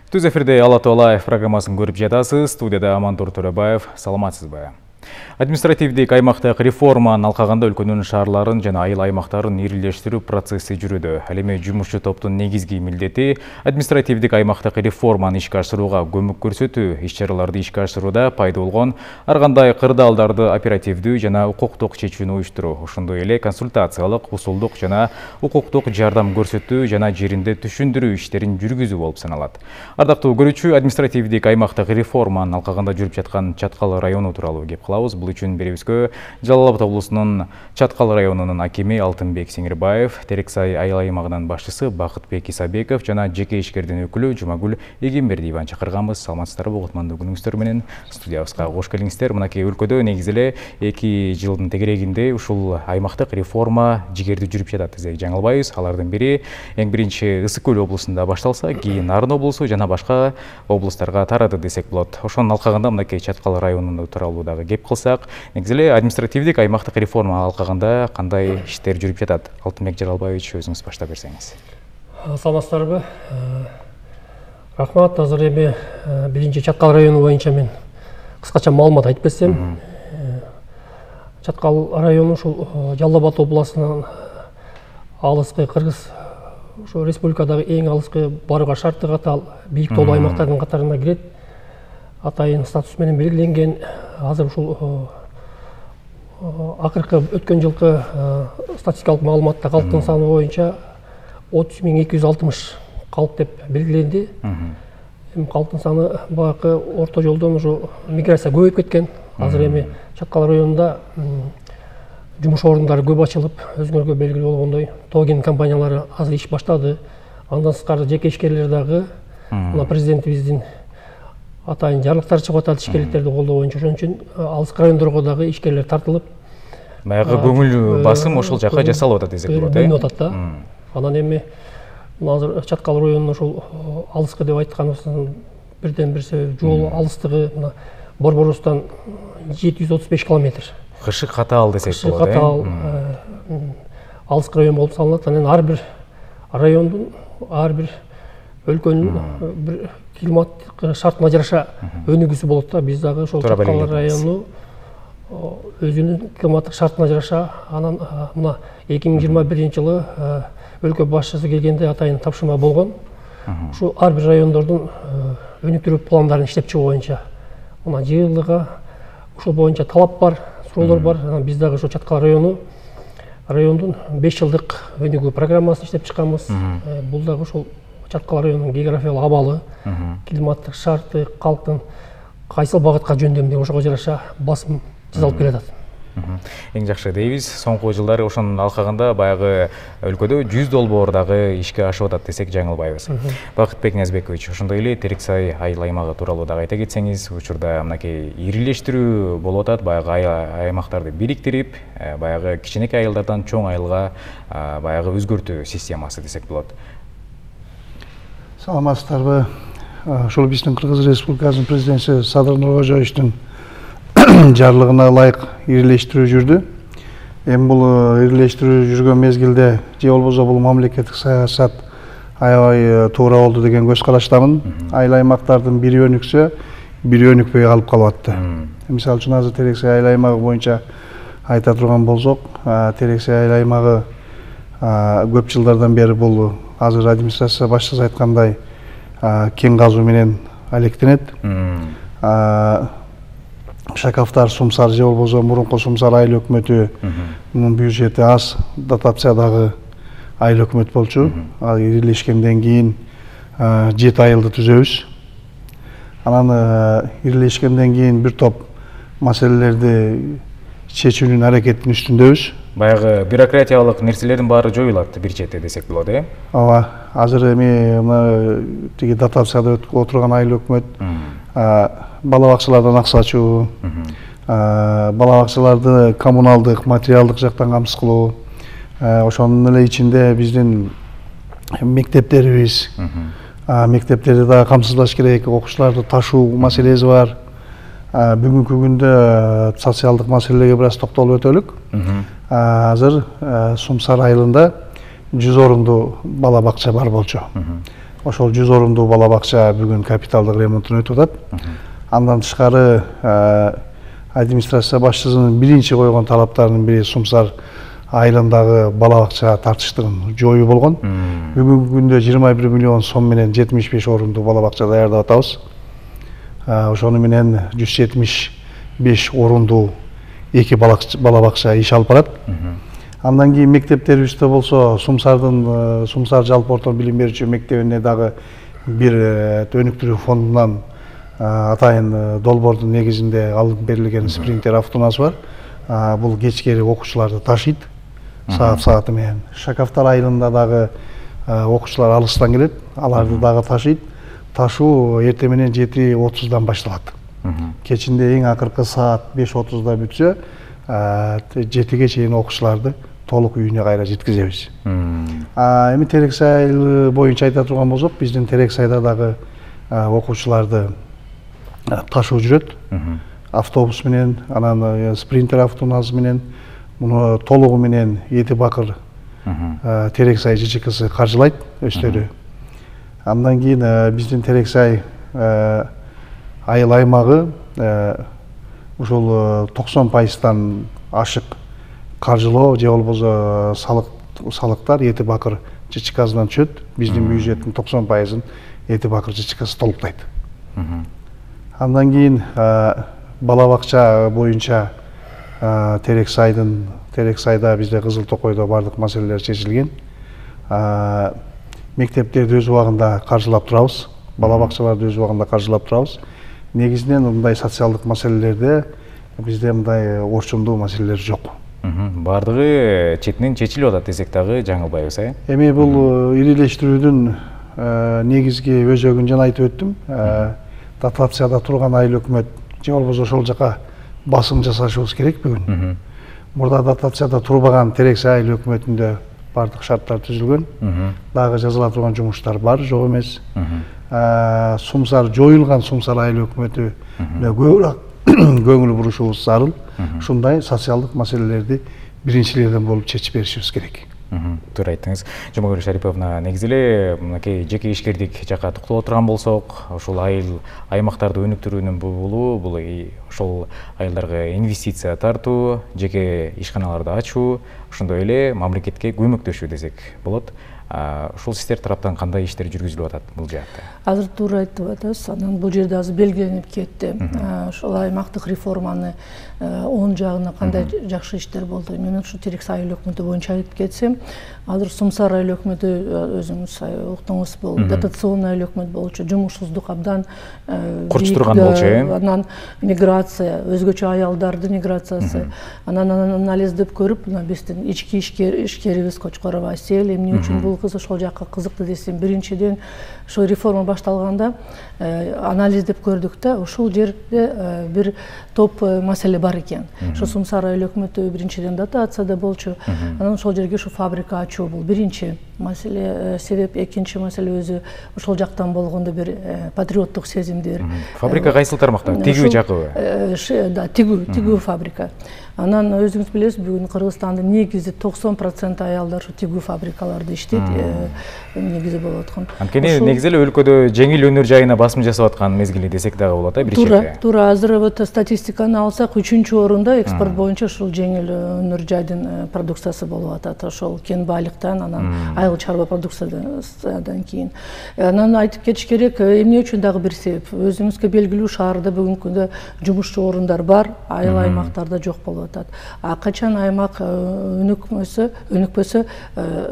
Түз эфирде Ала Тоо Лайв программасын көрүп жатасыз. Студияда Амантур Төрөбаев. Саламатсызбы? Административдик аймактык реформанын алкагында өлкөнүн шаарларын жана айыл аймактарын ирилештирүү процесси жүрүүдө. Ал эми жумушчу топтун негизги милдети административдик аймактык реформаны ишке ашырууга көмөк көрсөтүү, иш-чараларды ишке ашырууда пайда болгон ар кандай кырдаалдарды оперативдүү жана укуктук чечүүнү уюштуруу, ошондой эле консультациялык, усулдук жана укуктук жардам көрсөтүү жана жеринде түшүндүрүү иштерин жүргүзүү болуп саналат. Ардактуу көрүүчү, административдик аймактык реформанын алкагында жүрүп жаткан Чаткал району тууралуу кеп кылабыз. Бул үчүн беребизгө Жалал Абад облусунун Чаткал районунун акими Алтынбек Сеңирбаев, Терексай айыл аймагынын башчысы Бакытбек Исабеков жана жеке ишкердин өкүлү Жумагүл Эгембердиеваны чакырганбыз. Саламатсыздарбы, кутмандуу күнүңүздөр менен студиябызга кош келиңиздер. Мынакей өлкөдө негизи эле 2 жылдын тегерегинде ушул аймактык реформа жигердүү жүрүп жатат десек жаңылбайбыз. Алардын бири эң биринчи Ысык Көл облусунда башталса, кийин Нарын облусу жана башка облустарга тарады десек болот. Ошонун алкагында мынакей Чаткал районунун тууралуу дагы кеп кылсак, негизи эле административдик аймактык реформа алкагында кандай иштер жүрүп жатат? Алтынбек Жаралбаевич, өзүңүз баштап берсеңиз. Саламатсыздарбы? Рахмат. Азыр эми биринчи Чаткал району боюнча мен кыскача маалымат айтып берсем. Чаткал району ушул Жалал Абад областынын алыскы кыргыз ошо республикадагы эң алыскы барууга шарты катаал бийик тоолуу аймактардын катарына кирет. Атайын статус менен белгиленген. Азыр ушул акыркы өткөн жылкы статистикалык маалыматта калктын саны боюнча 30.260 калк деп белгиленди. Калктын саны баягы орто жолдон ушу миграция көбөйүп кеткен. Азыр эми Чаткал районунда жумуш орундары көп ачылып, өзүңөргө белгилүү болгондой тоген компаниялары азыр иш баштады. Андан сырткары жеке ишкерлер дагы мына президентибиздин атайын жарлыктар чыгып атат ишкерликтерди колдоо боюнча. Ошон үчүн алыскы райондорго дагы ишкерлер тартылып, баягы көңүл басым ошол жака жасалып атат десек болот. Бөлүнүп атат да. Анан эми азыр Чаткал районунун ушул алыскы деп айтканыбыздын бирден бир себеби жол алыстыгы мына Борборустан 735 километр. Кышык катаал десек болот. Кышык катаал алыскы район болуп саналат. Анан ар бир райондун, ар бир өлкөнүн бир климаттык шартына жараша өнүгүүсү болот да. Биз дагы ошол Чаткал району өзүнүн климаттык шартына жараша анан мына 2021 жылы өлкө башчысы келгенде атайын тапшырма болгон. Ушу ар бир райондордун өнүктүрүү пландарын иштеп чыгуу боюнча мына жылыга ушул боюнча талап бар, суроолор бар. Анан биз дагы ошо Чаткал райондун 5 жылдык өнүгүү программасын иштеп чыкканбыз. Бул дагы ошол Чаткал районунун географиялык абалы, климаттык шарты, калктын кайсыл багытка жөндөмдүгү ошого жараша басым жасалып келатат. Эң жакшы дейбиз. Соңку жылдары ошонун алкагында баягы өлкөдө 100 долбоор дагы ишке ашып атат десек жаңылбайбыз. Бакытбек Ниязбекович, ошондой эле Терексай айыл аймагы тууралуу дагы айта кетсеңиз, учурда мынакей ирилештирүү болуп атат, баягы аймактарды бириктирип, баягы кичинекей айылдардан чоң айылга баягы өзгөртүү системасы десек болот. Саламатсыздарбы? Ошол биздин Кыргыз Республикасынын президенти Садыр Нуркожоевичтин жарлыгына ылайык ирилештирүү жүрдү. Эми бул ирилештирүү жүргөн мезгилде же болбосо бул мамлекеттик саясат аябай туура болду деген көз караштамын. Айыл аймактардын бири өнүксө, бири өнүкпөй калып калып атты. Мисалы үчүн азыр Терексай айыл аймагы боюнча айта турган болсок, Терексай айыл аймагы көп жылдардан бери бул азыр администрация башчысы айткандай кен казуу менен алектенет. Шакафтар, Сумсар же болбосо мурунку Сумсар айыл өкмөтүнүн бюджети аз, дотациядагы айыл өкмөт болчу. Ал ирилешкенден кийин 7 айылды түзөбүз. Анан ирилешкенден кийин бир топ маселелерди чечүүнүн аракетинин үстүндөбүз. Баягы бюрократиялык нерселердин баары жоюлат бир четте десек болот, Ооба. Азыр эми мына тиги дотацияда отурган айыл өкмөт бала бакчалардан акча ачуу, бала бакчаларды коммуналдык, материалдык жактан камсыз кылуу, ошонун эле ичинде биздин мектептерибиз, мектептерди дагы камсыздаш керек, окуучуларды ташуу маселеси бар. Бүгүнкү күндө социалдык маселелерге бир аз токтолуп өтөлүк. Азыр Сумсар айылында 100 орундуу бала бакча бар болчу. ошол 100 орундуу бала бакча бүгүн капиталдык ремонтун өтүп атат. Андан тышкары администрация башчысынын биринчи койгон талаптарынын бири Сумсар айылындагы бала бакча тартыштыгын жоюу болгон. Бүгүнкү күндө 21 миллион сом менен 75 орундуу бала бакча даярдап атабыз. Ошону менен 175 орундуу 2 бала бакча иш алып барат. Андан кийин мектептерибизде болсо Сумсар жалпы орто билим берүүчү мектебине дагы бир өнүктүрүү фондунан атайын долбоордун негизинде алып берилген спринтер автоунаасы бар. Бул кечкери окуучуларды ташыйт сааты менен. Шакафтар айылында дагы окуучулар алыстан келет, аларды дагы ташыйт. Ташуу эртең менен 7:30-дан башталат. Кечинде эң акыркы саат 5:30-да бүтсө, 7-ге чейин окуучуларды толук үйүнө кайра жеткизебиз. Эми Терексай айылы боюнча айта турган болсок, биздин Терексайда дагы окуучуларды ташуу жүрөт. Автобус менен, анан спринтер автоунаасы менен, муну толугу менен Эти Бакыр Терексай ЖЧКсы каржылайт өздөрү. Андан кийин биздин Терексай айыл аймагы ушул 90%-тан ашык каржылоо же болбосо салыктар Эти Бакыр ЖЧКсынан түшөт. Биздин бюджеттин 90%-ын Эти Бакыр ЖЧКсы толуктайт. Андан кийин бала бакча боюнча Терексайда бизде Кызыл Токойдо бардык маселелер чечилген. Мектептерди өз убагында каржылап турабыз, бала бакчаларды өз убагында каржылап турабыз. Негизинен мындай социалдык маселелерде бизде мындай орчундуу маселелер жок. Бардыгы четинен чечилип атат десек дагы жаңылбайбыз, Эми бул ирилештирүүдүн негизги өзөгүн жана айтып өттүм. Дотацияда турган айыл өкмөт же болбосо ошол жака басым жасашыбыз керек бүгүн. Мурда дотацияда турбаган Терексай айыл өкмөтүндө бардык шарттар түзүлгөн. Дагы жазыла турган жумуштар бар, жок эмес. Сумсар жоюлган Сумсар айыл өкмөтүнө көбүрөөк көңүл бурушубуз зарыл. Ушундай социалдык маселелерди биринчилерден болуп чечип беришибиз керек. Туура айттыңыз. Жумагүл Шариповна, негизи эле мынакей жеке ишкердик жакка токтоло турган болсок, ушул айыл аймактарды өнүктүрүүнүн булу бул ошол айылдарга инвестиция тартуу, жеке ишканаларды ачуу, ошондой эле мамлекетке көмөктөшүү десек болот. Ушул сиздер тараптан кандай иштер жүргүзүлүп атат бул жакта? Азыр туура айтып атасыз. Анан бул жерде азыр белгиленип кетти. Ошол аймактык реформаны оң жагына кандай жакшы иштер болду. Мен ушу Терексай айыл өкмөтү боюнча айтып кетсем, азыр Сумсар айыл өкмөтү өзүңүз уктуңуз, бул дотационный айыл өкмөт болчу, жумушсуздук абдан курч турган болчу. Анан миграция, өзгөчө аялдардын миграциясы. Анан анализдеп көрүп, биздин ички ишкерибиз Кочкорова Асел эмне үчүн бул кыз ошол жакка кызыкты десем, биринчиден ошол реформа башталганда анализдеп көрдүк да, ушул жерде бир топ маселе бар экен. Ошо Сумсар айыл өкмөтү биринчиден дотацияда болчу. Анан ошол жерге ушу фабрика ачуу бул биринчи маселе, себеп. Экинчи маселе өзү ошол жактан болгондо бир патриоттук сезимдер. Фабрика кайсыл тармакта? Тигүү жакыбы? Да, тигүү фабрика. Анан өзүңүз билесиз, бүгүн Кыргызстандын негизи 90% аялдар ушу тигүү фабрикаларда иштейт, негизи болуп аткан. Анткени негизи эле өлкөдө жеңил өнөр жайына басым жасап аткан мезгили десек дагы болот, бир чети. Туура. Азыр вот статистиканы алсак, 3-орунда экспорт боюнча ушул жеңил өнөр жайдын продукциясы болуп атат. Ошол кен байлыктан, анан айыл чарба продукциядан кийин. Анан айтып кетиш керек, эмне үчүн дагы бир себеп. Өзүңүзгө белгилүү, шаарда бүгүнкү күндө жумушчу орундар бар, айыл аймактарда жок болуп атат. Качан аймак өнүкпөсө,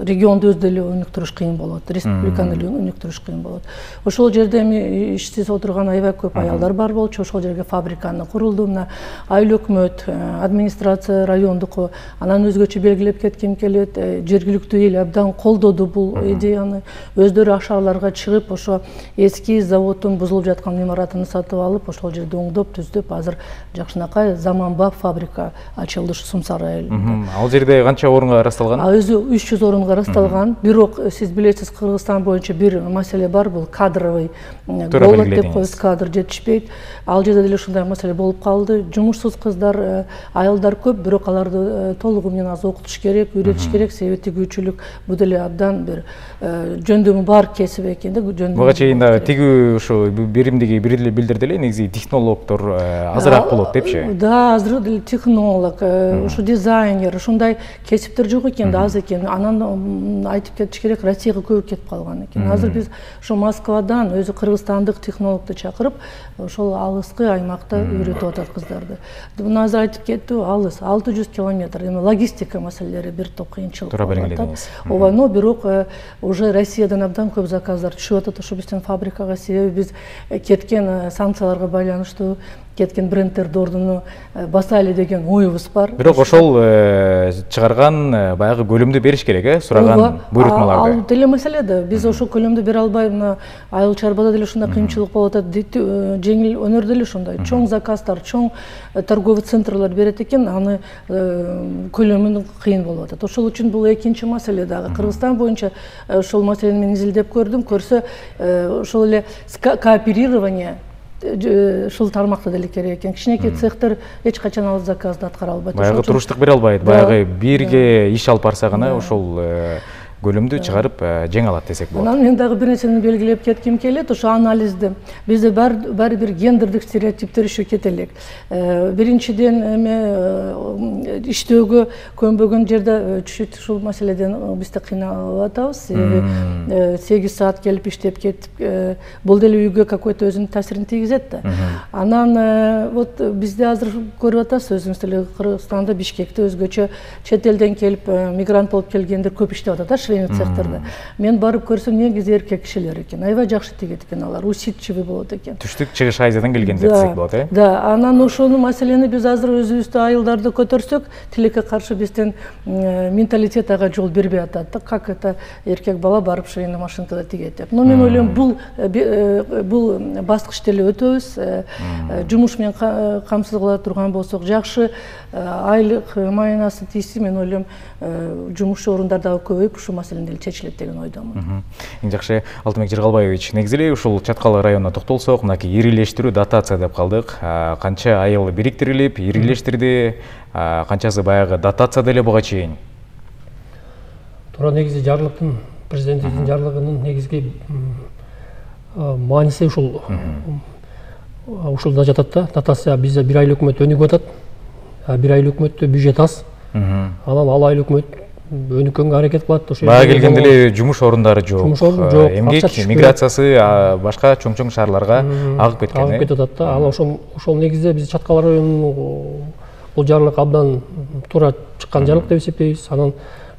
регионду өз деле өнүктүрүш кыйын болот, республиканы өнүктүрүш кыйын болот. Ошол жерде эми иштеп отурган аябай көп аялдар бар болчу. Ошол жерге фабриканы курулду. Мына айыл өкмөт, администрация райондуку, анан өзгөчө белгилеп кетким келет, жергиликтүү эл абдан колдоду бул идеяны. Өздөрү ашааларга чыгып, ошо эски заводдун бузулуп жаткан имаратын сатып алып, ошол жерде оңдоп, түздөп, азыр жакшынакай заманбап фабрика ачылды ушу Сумсар айылында. Ал жерде канча орунга ырасталган? Өзү 300 орунга ырасталган. Бир бирок сиз билесиз, Кыргызстан боюнча бир маселе бар, бул кадровый голод деп коебуз, кадр жетишпейт. Ал жерде деле ушундай маселе болуп калды. Жумушсуз кыздар, айылдар көп, бирок аларды толугу менен азыр окутуш керек, үйрөтүш керек. Себеби тигүүчүлүк бул деле абдан бир жөндөмү бар кесип экен да. Буга чейин да тигүү ушу биримдиги билдирди эле, негизи технологдор азыраак болот депчи. Да, азыр деле технолог, ушу дизайнер, ушундай кесиптер жок экен да, аз экен. Анан айтып кетиш керек, Россияга көп кетип калган экен. Азыр биз ошо Москвадан өзү кыргызстандык технологду чакырып, ошол алыскы аймакта үйрөтүп атат кыздарды. Муну азыр айтып кеттиби, алыс 600 километр. Эми логистика маселелери бир топ кыйынчылык болуп атат. Ооба, но бирок уже Россиядан абдан көп заказдар түшүп атат ошо биздин фабрикага. Себеби биз кеткен санкцияларга байланыштуу кеткен брендтерди ордуну басайлы деген оюбуз бар. Бирок ошол чыгарган баягы көлөмдү бериш керек, сураган буйрутмаларды. Ал деле маселе да. Биз ошол көлөмдү бере албай, мына айыл чарбада деле ушундай кыйынчылык болуп атат. Жеңил өнөрдө деле ушундай чоң заказдар, чоң торговый центрлар берет экен, аны көлөмү кыйын болуп атат. Ошол үчүн бул экинчи маселе дагы. Кыргызстан боюнча ошол маселени мен изилдеп көрдүм. Көрсө ошол эле кооперирование ушул тармакта деле керек экен. Кичинекей цехтер эч качан ал заказды аткара албайт. Баягы туруштук бере албайт. Баягы бирге иш алып барса гана ошол көлөмдү чыгарып жеңе алат десек болот. Анан мен дагы бир нерсени белгилеп кетким келет. Ошо анализди бизде баары бир гендердик стереотиптер иши кете элек. Биринчиден эме иштөөгө көнбөгөн жерде чүт ушул маселеден биз да кыйналып атабыз. Себеби 8 саат келип иштеп кетип, бул деле үйгө какой-то өзүнүн таасирин тийгизет да. Анан вот бизде азыр көрүп атасыз, өзүңүз деле Кыргызстанда, Бишкекте өзгөчө чет элден келип мигрант болуп келгендер көп иштеп атат. Цехтерде. Мен барып көрсөм, негизи эркек кишилер экен. Аябай жакшы тигет экен алар, усидчивый болот экен. Түштүк чыгыш Азиядан келгендер десек болот, Да, анан ошону маселени биз азыр өзүбүздү айылдарды көтөрсөк, тилекке каршы биздин менталитет ага жол бербей атат да. Как это эркек бала барып швейный машинкада тигет деп. Но мен ойлойм, бул баскыч деле өтөбүз. Жумуш менен камсыз кыла турган болсок, жакшы айлык майнасы тийсе, мен ойлойм, жумушчу орундар дагы көбөйүп, ушул маселе деле чечилет деген ойдомун. Эң жакшы, Алтынбек Жыргалбаевич, негизи эле ушул Чаткал районуна токтолсок, мынакей ирилештирүү, дотация деп калдык. Канча айыл бириктирилип, ирилештирди, канчасы баягы дотация деле буга чейин? Туура, негизи жарлыктын, президенттин жарлыгынын негизги мааниси ушулда жатат да. Дотация бизде бир айыл өкмөт өнүгүп атат. Бир айыл өкмөттө бюджет аз. Анан ал айыл өкмөт өнүккөнгө аракет кылат. Бага келгенде эле жумуш орундары жок. Жумуш орун жок. Эмгек миграциясы башка чоң-чоң шаарларга агып кеткен. Агып кетип атат да. Ал ошол негизде биз Чаткал районунун бул жарлык абдан туура чыккан жарлык деп эсептейбиз. Анан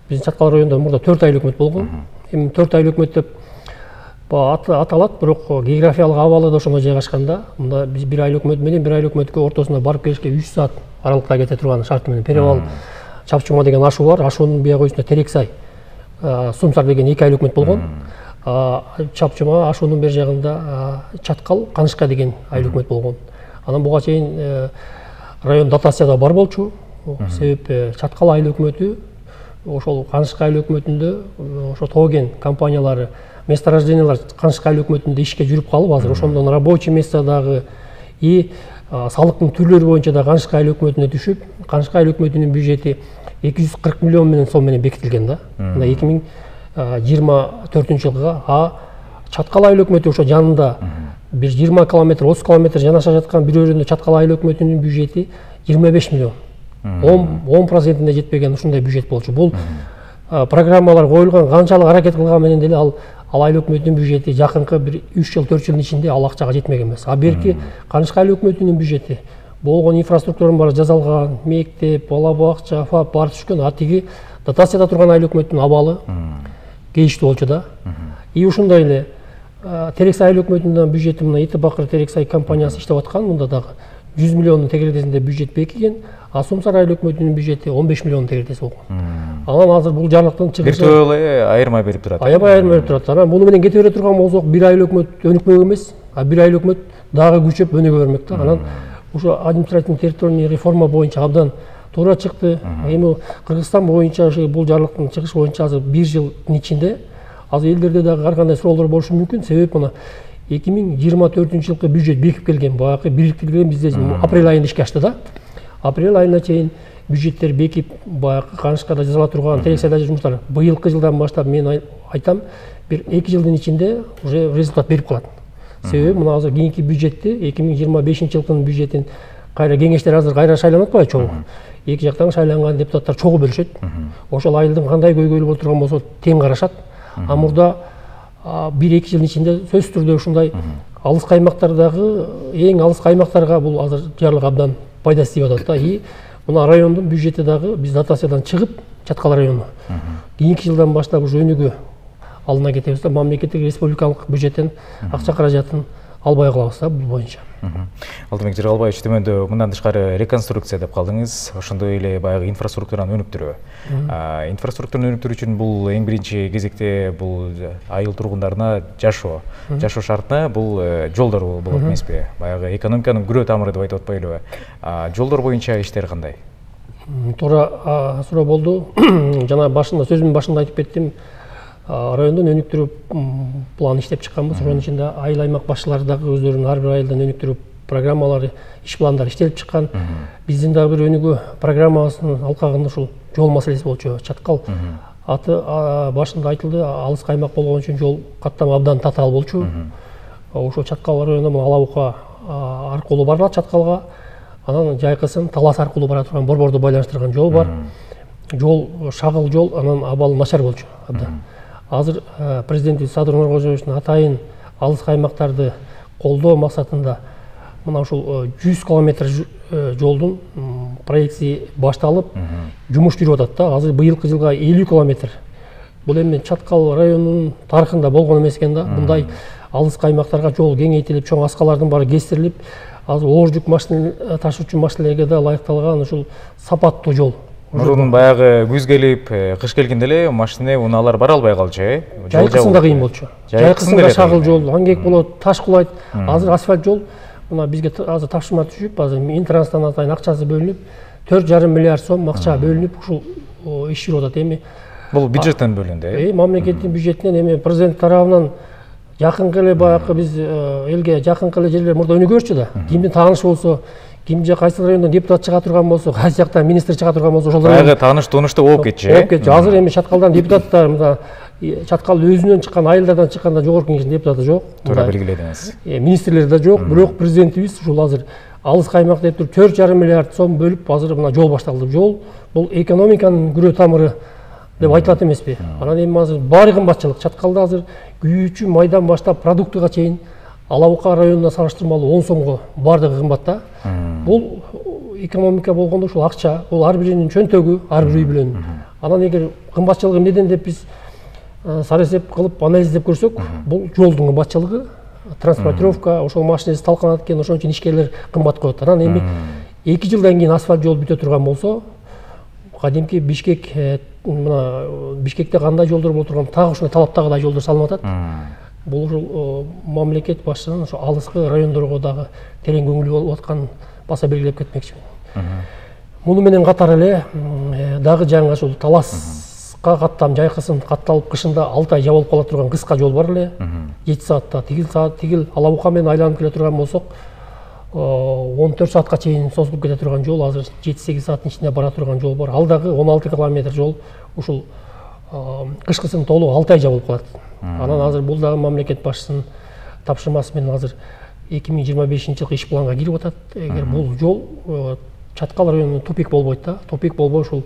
биздин Чаткал районунда мурда 4 айыл өкмөт болгон. Эми 4 айыл өкмөт деп аталат, бирок географиялык абалы да ошондой жайгашканда, мында биз бир айыл өкмөт менен бир айыл өкмөткө ортосунда барып келишке 3 саат аралыкта кете турган шарты менен Перевал Чапчума деген ашуу бар. Ашуунун бияк өзүндө Терексай, Сумсар деген 2 айыл өкмөт болгон. Чапчума ашуунун бер жагында Чаткал, Канышка деген айыл өкмөт болгон. Анан буга чейин район дотацияда бар болчу. Себеби Чаткал айыл өкмөтү ошол Канышка айыл өкмөтүндө ошо Тоген компаниялары месторождениялар Канышка айыл өкмөтүндө ишке жүрүп калып, азыр ошондон рабочий местодагы и салыктын түрлөрү боюнча да Канышка айыл өкмөтүнө түшүп, Канышка айыл өкмөтүнүн бюджети 240 миллион менен сом менен бекитилген да. Мында 2024 жылга Чаткал айыл өкмөтү ошо жанында бир 20 километр, 30 километр жанаша жаткан бир өрүндө Чаткал айыл өкмөтүнүн бюджети 25 миллион. 10% жетпеген ушундай бюджет болчу. Бул программалар коюлган, канчалык аракет кылган менен деле ал айыл өкмөтүнүн бюджети жакынкы бир 3 жыл, 4 жылдын ичинде ал акчага жетмеген эмес. Берки Канышка айыл өкмөтүнүн бюджети болгон инфраструктуранын баары жасалган, мектеп, бала бакча, ФАП баары түшкөн. Тиги дотацияда турган айыл өкмөттүн абалы кейиштүү болчу да. И ушундай эле Терексай айыл өкмөтүнүн бюджети, мына Итибакыр Терексай компаниясы иштеп аткан, мында дагы 100 миллиондун тегересинде бюджет бекиген. Сумсар айыл өкмөтүнүн бюджети 15 миллион тегересинде болгон. Анан азыр бул жарлыктын чыгышы бир топ эле айырма берип турат. Аябай айырма берип турат. Анан муну менен кете бере турган болсок, бир айыл өкмөт өнүкмөк эмес, бир айыл өкмөт дагы күчөп өнүгө бермек да. Анан ошо административный территориялык реформа боюнча абдан туура чыкты. Эми Кыргызстан боюнча бул жарлыктын чыгышы боюнча азыр 1 жылдын ичинде азыр элдерде дагы ар кандай суроолор болушу мүмкүн. Себеп мына 2024 жылкы бюджет бекип келген, баягы бириктирилген бизде апрель айында ишке ашты да. Апрель айына чейин бюджеттер бекип, баягы канышкада жасала турган тирешада жумуштар быйылкы жылдан баштап мен айтам, бир 2 жылдын ичинде уже результат берип калат. Себеби мына азыр кийинки бюджетти 2025 жылдын бюджетин кайра кеңештер азыр кайра шайланып атпайбы чогуу. Эки жактан шайланган депутаттар чогуу бөлүшөт. Ошол айылдын кандай көйгөйлүү болуп турган болсо тең карашат. А мурда 1-2 жылдын ичинде сөзсүз түрдө ушундай алыс каймактардагы эң алыс каймактарга бул азыр жарлык абдан пайдасы тийип атат да. И мына райондун бюджети дагы биз дотациядан чыгып, Чаткал району кийинки жылдан баштап уже өнүгүү алына кетебиз да, мамлекеттик республикалык бюджеттен акча каражатын албай калабыз да бул боюнча. Алтынбек Жыргалбаевич, төмөндө мындан тышкары реконструкция деп калдыңыз. Ошондой эле баягы инфраструктураны өнүктүрүү. Инфраструктураны өнүктүрүү үчүн бул эң биринчи кезекте бул айыл тургундарына жашоо шартына бул жолдор болот эмеспи? Баягы экономиканын күрөө тамыры деп айтып атпайлыбы? Жолдор боюнча иштер кандай? Туура суроо болду. Жана башында сөзүмдүн башында айтып кеттим. Райондон өнүктүрүү план иштеп чыкканбыз. Ошонун ичинде айыл аймак башчылары дагы өздөрүнүн ар бир айылдан өнүктүрүү программалары, иш пландары иштелип чыккан. Биздин дагы бир өнүгүү программабыздын алкагында ушул жол маселеси болчу. Чаткал аты башында айтылды, алыс каймак болгон үчүн жол каттамы абдан татаал болчу. Ошол Чаткал районунда Алабука аркылуу барылат Чаткалга. Анан жайкысын Талас аркылуу бара турган борборду байланыштырган жол бар. Жол шагыл жол, анан абалы начар болчу абдан. Азыр президентибиз Садыр Нуркожоевичтин атайын алыс каймактарды колдоо максатында мына ушул 100 километр жолдун проекти башталып, жумуш жүрүп атат да. Азыр быйылкы жылга 50 километр. Бул эми Чаткал районунун тарыхында болгон эмес экен да. Мындай алыс каймактарга жол кеңейтилип, чоң аскалардын баары кестирилип, азыр оор жүк машина ташуучу машинелерге да ылайыкталган ушул сапаттуу жол. Мурун баягы күз келип, кыш келгенде эле машина унаалар бара албай калчу, Жайкысында кыйын болчу. Жайкысында шагыл жол, аңгек болот, таш кулайт. Азыр асфальт жол, мына бизге азыр тапшырма түшүп, азыр Минтрансдан атайын акчасы бөлүнүп, 4,5 миллиард сом акча бөлүнүп, ушул иш жүрүп атат. Эми бул бюджеттен бөлүндү. Мамлекеттин бюджетинен эми президент тарабынан жакынкы эле баягы биз элге жакынкы эле жерлер мурда өнүгөрчү да. Кимдин таанышы болсо, кимде кайсы райондон депутат чыга турган болсо, кайсы жактан министр чыга турган болсо, ошол баягы тааныш-тууныштуу болуп кетчү. Болуп кетчү. Азыр эми Чаткалдан депутаттар, мына Чаткал өзүнөн чыккан айылдардан чыкканда жогорку кеңештин депутаты жок. Туура белгиледиңиз. Министрлер да жок, бирок президентибиз ушул азыр алыс каймак деп туруп 4,5 миллиард сом бөлүп, азыр мына жол башталды. Жол бул экономиканын күрөө тамыры деп айтылат эмеспи? Анан эми азыр баары кымбатчылык. Чаткалда азыр күйүүчү майдан баштап продуктыга чейин Алабука районуна салыштырмалуу 10 сомго баардыгы кымбат да. Бул экономика болгондо ушул акча, бул ар биринин чөнтөгү, ар бир үй бүлөнүн. Анан эгер кымбатчылыгы эмнеден деп биз саресеп кылып анализдеп көрсөк, бул жолдун кымбатчылыгы, транспортировка, ошол машинеси талканат экен, ошон үчүн ишкерлер кымбат коет. Анан эми 2 жылдан кийин асфальт жол бүтө турган болсо, кадимки Бишкек, мына Бишкекте кандай жолдор болуп турган, так ушундай талаптагыдай жолдор салынып атат. Бул ушул мамлекет башчысынын ошо алыскы райондорго дагы терең көңүлү болуп атканын баса белгилеп кетмекчимин. Муну менен катар эле дагы жаңы ушул Таласка каттам жайкысын катталып кышында 6 ай жабылып кала турган кыска жол бар эле. 7 саатта, тигил Алабука менен айланып келе турган болсок, 14 саатка чейин созулуп кете турган жол, азыр 7-8 сааттын ичинде бара турган жол бар. Ал дагы 16 километр жол ушул кышкысын толук 6 ай жабылып калат. Анан азыр бул дагы мамлекет башчысынын тапшырмасы менен азыр 2025 жылкы иш планга кирип атат. Эгер бул жол Чаткал районунун тупик болбойт да, тупик болбой ушул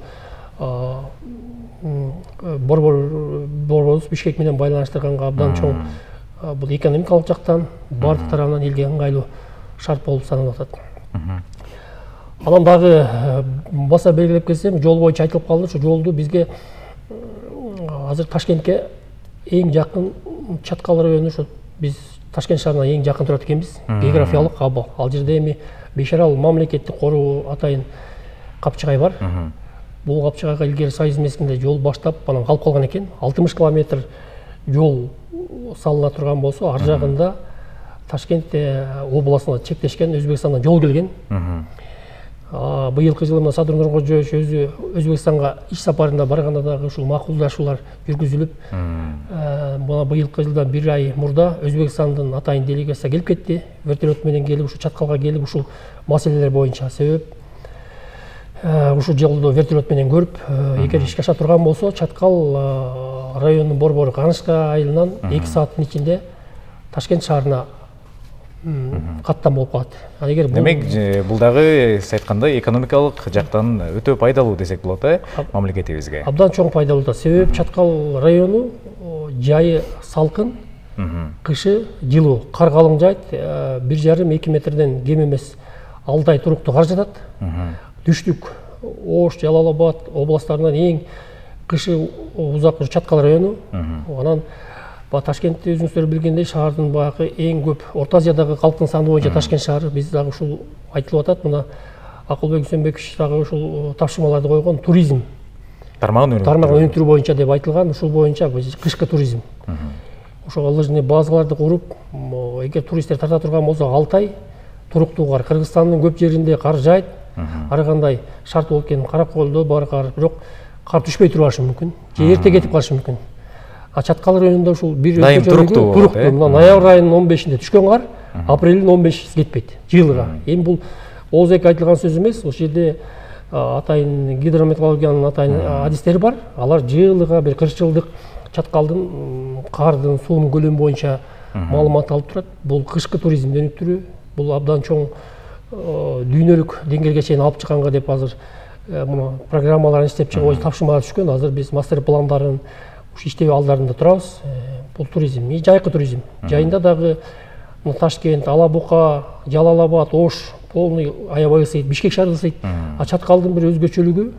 борборубуз Бишкек менен байланыштырганга абдан чоң бул экономикалык жактан бардык тарабынан элге ыңгайлуу шарт болуп саналып атат. Анан дагы баса белгилеп кетсем, жол боюнча айтылып калды, ошо жолду бизге азыр Ташкентке эң жакын Чаткал району, ошо биз Ташкент шаарына эң жакын турат экенбиз. Географиялык абал. Ал жерде эми Бешарал мамлекеттик коруу атайын Капчыгай бар. Бул Капчыгайга илгери Союз мезгилинде жол баштап, анан калып калган экен. 60 километр жол салына турган болсо, ар жагында Ташкент областына чектешкен Өзбекстандан жол келген. Быйылкы жылы мына Садыр Нуркожоевич өзү Өзбекстанга иш сапарында барганда дагы ушул макулдашуулар жүргүзүлүп, мына быйылкы жылдан 1 ай мурда Өзбекстандын атайын делегация келип кетти. Вертолет менен келип, ушул Чаткалга келип, ушул маселелер боюнча себеп ушул жолдо вертолет менен көрүп, эгер ишке аша турган болсо, Чаткал районунун борбору Канышка айылынан 2 сааттын ичинде Ташкент шаарына каттам болуп калат. Демек, бул дагы сиз айткандай экономикалык жактан өтө пайдалуу десек болот, мамлекетибизге. Абдан чоң пайдалуу да. Себеп Чаткал району жайы салкын, кышы жылуу, кар калың жайт, 1,5-2 метрден кем эмес 6 ай туруктуу кар жатат. Түштүк, Ош, Жалал Абад областтарынан эң кышы узак Чаткал району. Анан Ташкентти өзүңүздөр билгендей шаардын баягы эң көп Орто Азиядагы калктын саны боюнча Ташкент шаары, биз дагы ушул айтылып атат. Мына Акылбек Үсөнбекович дагы ушул тапшырмаларды койгон туризм тармагын өнүктүрүү боюнча деп айтылган. Ушул боюнча кышкы туризм. Ошого лыжный базаларды куруп, эгер туристтер тарта турган болсо 6 ай туруктуу кар. Кыргызстандын көп жеринде кар жайт. Ар кандай шарт болуп кеткен Каракөлдө бар кар, бирок кар түшпөй турашы мүмкүн. Же эрте кетип калышы мүмкүн. Чаткал районунда ушул бир туруктуу. Мына ноябрь айынын 15-inde түшкөн кар, апрелдин 15-си кетпейт жылыга. Эми бул оозек айтылган сөз эмес. Ошол жерде атайын гидрометеорологиянын атайын адистери бар. Алар жылыга бир 40 жылдык Чаткалдын кардын, суунун көлөмү боюнча маалымат алып турат. Бул кышкы туризмди өнүктүрүү, бул абдан чоң дүйнөлүк деңгээлге чейин алып чыкканга деп азыр программаларын иштеп чыгып, тапшырмалар түшкөн. Азыр биз мастер пландарын иштөө алдарында турабыз. Бул туризм, жайкы туризм. Жайында дагы Ташкент, Алабука, Жалал Абад, Ош полный аябай ысыйт, Бишкек шаары ысыйт. Чаткалдын бир өзгөчөлүгү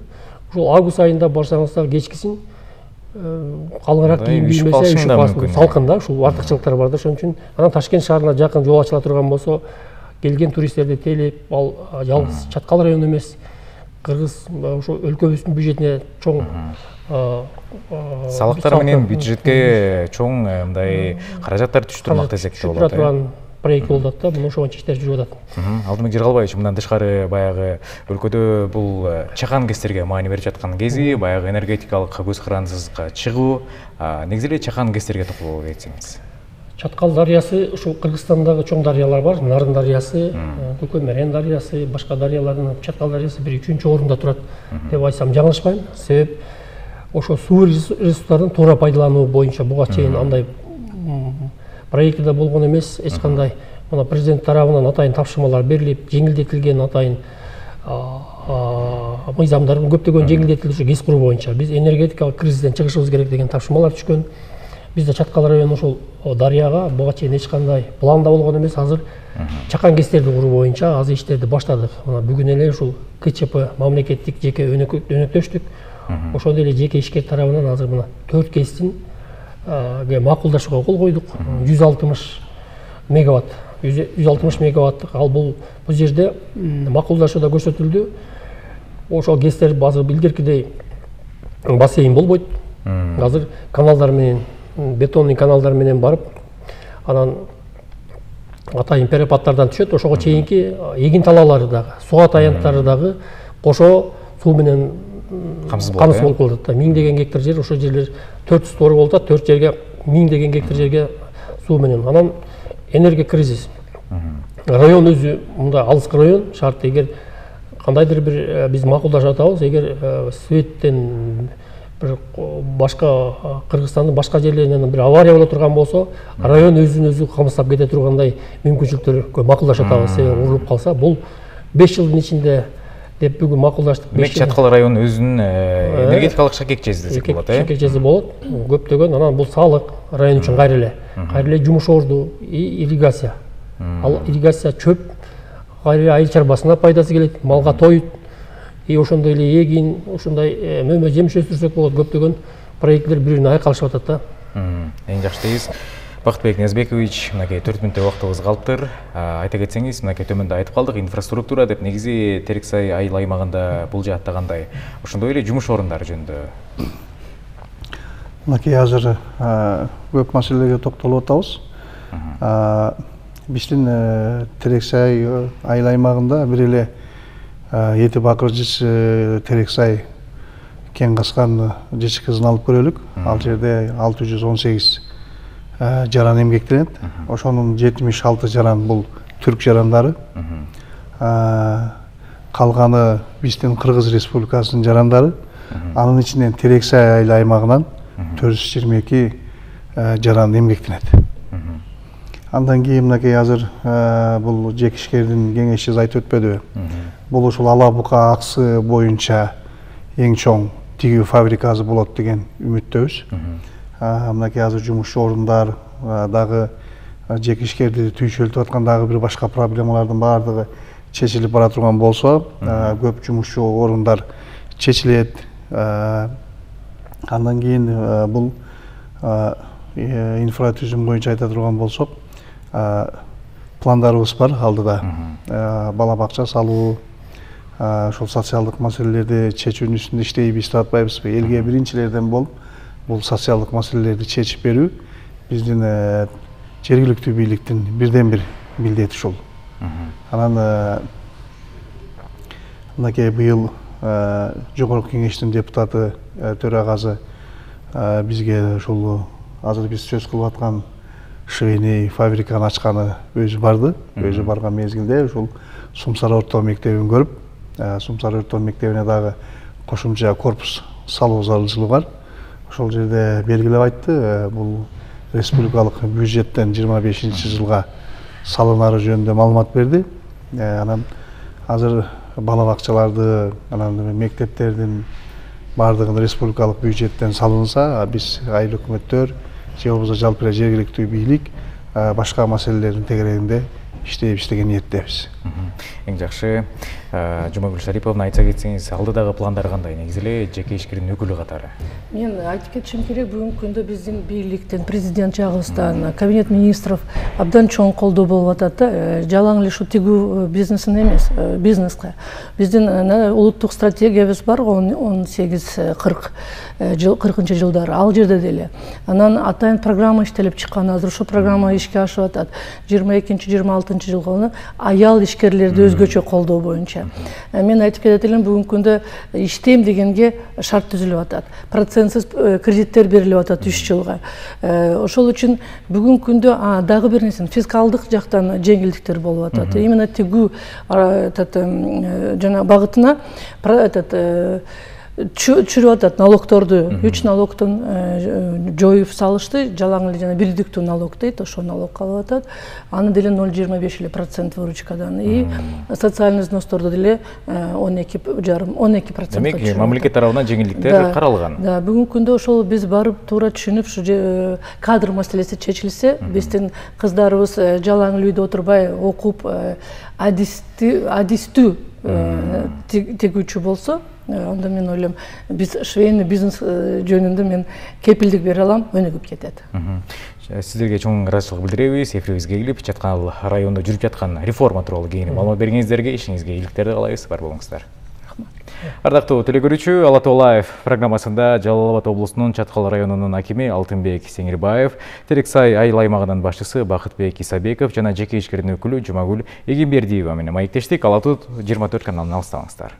ушул август айында барсаңыз дагы кечкисин калыңыраак кийим киймесе ушул салкын да, ушул артыкчылыктар бар да. Ошон үчүн анан Ташкент шаарына жакын жол ачыла турган болсо, келген туристтерди тейлеп, ал жалгыз Чаткал району эмес, Кыргыз ошо өлкөбүздүн бюджетине чоң салыктар менен бюджетке чоң мындай каражаттар түшүп турмак десек болот. Түшүп турган проект болуп атат да, мына ошончо иштер жүрүп атат. Алтынбек Жыргалбаевич, мындан тышкары баягы өлкөдө бул чакан кестерге маани берип жаткан кези, баягы энергетикалык көз карандысызга чыгуу, негизи эле чакан кестерге токтолуп кетсеңиз. Чаткал дарыясы ушул Кыргызстандагы чоң дарыялар бар. Нарын дарыясы, Көкөмөрен дарыясы, башка дарыялардын Чаткал дарыясы 1-3 орунда турат деп айтсам жаңылышпайм. Себеп ошо суу ресурстарын туура пайдалануу боюнча буга чейин андай проектиде болгон эмес. Эч кандай мына президент тарабынан атайын тапшырмалар берилип, жеңилдетилген атайын мыйзамдардын көптөгөн жеңилдетилиши гез куруу боюнча биз энергетикалык кризистен чыгышыбыз керек деген тапшырмалар түшкөн. Бизде Чаткал району ошол дарыяга буга чейин эч кандай планда болгон эмес. Азыр чакан кестерди куруу боюнча азыр иштерди баштадык. Мына бүгүн эле ушул КЧП мамлекеттик жеке өнөктөштүк. Ошондой эле жеке ишкер тарабынан азыр мына 4 кестин макулдашууга кол койдук. 160 мегаватт. 160 мегаваттык. Ал бул жерде макулдашууда көрсөтүлдү. Ошол кестер азыр илгеркидей бассейн болбойт. Азыр каналдар менен, бетонный каналдар менен барып, анан атайын перепадтардан түшөт. Ошого чейинки эгин талаалары дагы, суга таянттары дагы кошо суу менен камсыз болуп калат. 1000 гектар жер, ошол жерлер 400 тор болуп атат. 4 жерге 1000 гектар жерге суу менен. Анан энергия кризис. Район өзү мындай алыскы район, шарт эгер кандайдыр бир биз макулдашып атабыз, эгер светтен бир башка Кыргызстандын башка жерлеринен бир авария боло турган болсо, район өзүн өзү камсыздап кете тургандай мүмкүнчүлүктөргө макулдашып атабыз. Себеби урулуп калса, бул 5 жылдын ичинде деп бүгүн макулдаштык. Демек Чаткал району өзүнүн энергетикалык шакекчеси десек болот, шакекчеси болот. Көптөгөн анан бул салык район үчүн кайра эле жумуш орду, ирригация. Ал ирригация чөп кайра айыл чарбасына пайдасы келет, малга тоют. Ошондой эле эгин, ошондой мөмө жемиш өстүрсөк болот. Көптөгөн проекттер бири-бирине айкалышып атат да. Эң жакшы дейбиз. Бактыбек Ниязбекович, мынакей 4 мүнөттөй убактыбыз калыптыр. Айта кетсеңиз, мынакей төмөндө айтып калдык, инфраструктура деп, негизи Терексай айыл аймагында бул жаатта кандай? Ошондой эле жумуш орундары жөнүндө. Мынакей азыр көп маселелерге токтолуп атабыз. Биздин Терексай айыл аймагында бир эле Эти бакыр жыч Терексай кен каскан жыч кызын алып көрөлүк. Ал жерде 618 жаран эмгектенет. Ошонун 76 жаран бул түрк жарандары. Калганы биздин Кыргыз Республикасынын жарандары. Анын ичинен Терексай айыл аймагынан 422 жаран эмгектенет. Андан кийин мынакей азыр бул жекишкердин кеңешчиси айтып өтпөдүбү? Бул ушул Ала Бука аксы боюнча эң чоң тигүү фабрикасы болот деген үмүттөбүз. Мынакей азыр жумушчу орундар дагы жекишкерди түйшөлтүп аткан дагы бир башка проблемалардын баардыгы чечилип бара турган болсо, көп жумушчу орундар чечилет. Андан кийин бул инфратүзүм боюнча айта турган болсок, пландарыбыз бар алдыда. Бала бакча салуу, ошол социалдык маселелерди чечүүнүн үстүндө иштейбиз, атпайбызбы? Элге биринчилерден болуп, бул социалдык маселелерди чечип берүү биздин жергиликтүү бийликтин бирден бир милдети ушул. Анан мынакей быйыл жогорку кеңештин депутаты төрагасы бизге ушул азыр биз сөз кылып аткан швейный фабриканы ачканы өзү барды. Өзү барган мезгилде ушул Сумсары орто мектебин көрүп, Сумсары орто мектебине дагы кошумча корпус салуу зарылчылыгы бар. Ошол жерде белгилеп айтты, бул республикалык бюджеттен 25-жылга салынары жөнүндө маалымат берди. Анан азыр бала бакчаларды, анан мектептердин бардыгын республикалык бюджеттен салынса, биз айыл өкмөттөр же болбосо жалпы эле жергиликтүү бийлик башка маселелердин тегерегинде иштейбиз деген ниеттебиз. Эң жакшы. Жумагүл Шариповна, айтса кетсеңиз, алдыдагы пландар кандай? Негизи эле жеке ишкердин өкүлү катары. Мен айтып кетишим керек, бүгүнкү күндө биздин бийликтен, президент жагыбыздан, кабинет министров абдан чоң колдоо болуп атат да. Жалаң эле ушу тигүү бизнесине эмес, бизнеске. Биздин улуттук стратегиябыз бар, 18-40-жылдары. Ал жерде деле. Анан атайын программа иштелип чыккан. Азыр ошол программа ишке ашып атат. 22-26-жылга аял ишкерлерди өзгөчө колдоо боюнча. Мен айтып кетет элем, бүгүнкү күндө иштейм дегенге шарт түзүлүп атат. Процентсиз кредиттер берилип атат 3 жылга. Ошол үчүн бүгүнкү күндө дагы бир нерсе, фискалдык жактан жеңилдиктер болуп атат. Именно тигүү жана багытына чүрүп атат налогторду, 3 налогтон жоюп салышты, жалаң эле жана бирдиктүү налог дейт, ошол налог калып атат. Аны деле 0,25% выручкадан. И социальный взносторду деле 12%. Демек, мамлекет тарабынан жеңилдиктер каралган. Да, бүгүнкү күндө ошол биз барып туура түшүнүп, ушу кадр маселеси чечилсе, биздин кыздарыбыз жалаң эле үйдө отурбай окуп, адистүү тигүүчү болсо, анда мен ойлойм, биз швейный бизнес жөнүндө мен кепилдик бере алам, өнүгүп кетет. Сиздерге чоң ыраазычылык билдиребиз. Эфирибизге келип, Чаткал районунда жүрүп жаткан реформа тууралуу кеңири маалымат бергениңиздерге, ишиңизге ийгиликтерди каалайбыз. Бар болуңуздар. Ардактуу телекөрүүчү, Ала Тоо Лайв программасында Жалал Абад облусунун Чаткал районунун акими Алтынбек Сеңирбаев, Терексай айыл аймагынын башчысы Бакытбек Исабеков жана жеке ишкердин өкүлү Жумагүл Эгембердиева менен маектештик. Ала Тоо 24 каналынан алыстабаңыздар.